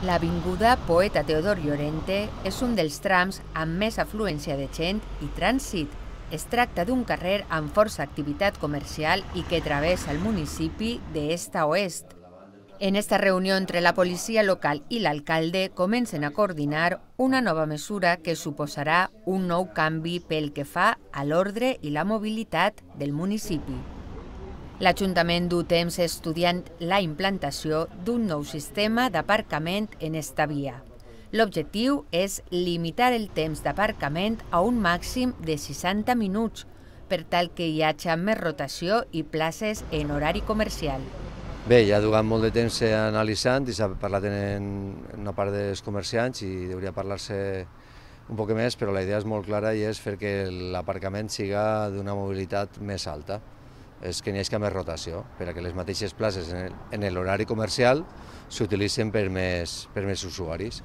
L'avinguda Poeta Teodor Llorente és un dels trams amb més afluència de gent i trànsit. Es tracta d'un carrer amb força activitat comercial i que travessa el municipi d'est a oest. En esta reunió entre la policia local i l'alcalde comencen a coordinar una nova mesura que suposarà un nou canvi pel que fa a l'ordre i la mobilitat del municipi. L'Ajuntament du temps estudiant la implantació d'un nou sistema d'aparcament en esta via. L'objectiu és limitar el temps d'aparcament a un màxim de 60 minuts, per tal que hi hagi més rotació i places en horari comercial. Bé, ja duem molt de temps analitzant i s'ha parlat en una part dels comerciants i hauria parlar-se un poc més, però la idea és molt clara i és fer que l'aparcament siga d'una mobilitat més alta. És que n'hi hagi més rotació, perquè les mateixes places en l'horari comercial s'utilitzen per més usuaris.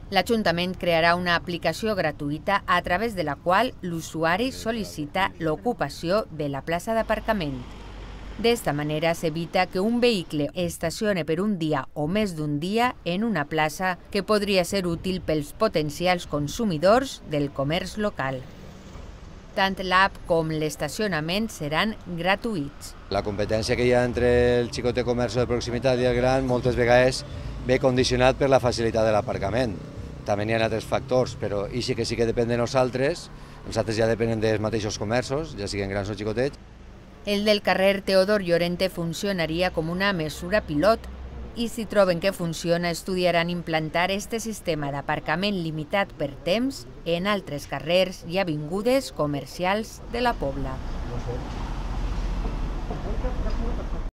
L'Ajuntament crearà una aplicació gratuïta a través de la qual l'usuari sol·licita l'ocupació de la plaça d'aparcament. D'esta manera s'evita que un vehicle estacione per un dia o més d'un dia en una plaça que podria ser útil pels potencials consumidors del comerç local. Tant l'app com l'estacionament seran gratuïts. La competència que hi ha entre el xicot de comerç de proximitat i el gran moltes vegades ve condicionat per la facilitat de l'aparcament. També n'hi ha altres factors, però això que sí que depèn de nosaltres ja depenen dels mateixos comerços, ja siguin grans o xicotets. El del carrer Teodor Llorente funcionaria com una mesura pilot i si troben que funciona estudiaran implantar este sistema d'aparcament limitat per temps en altres carrers i avingudes comercials de la Pobla.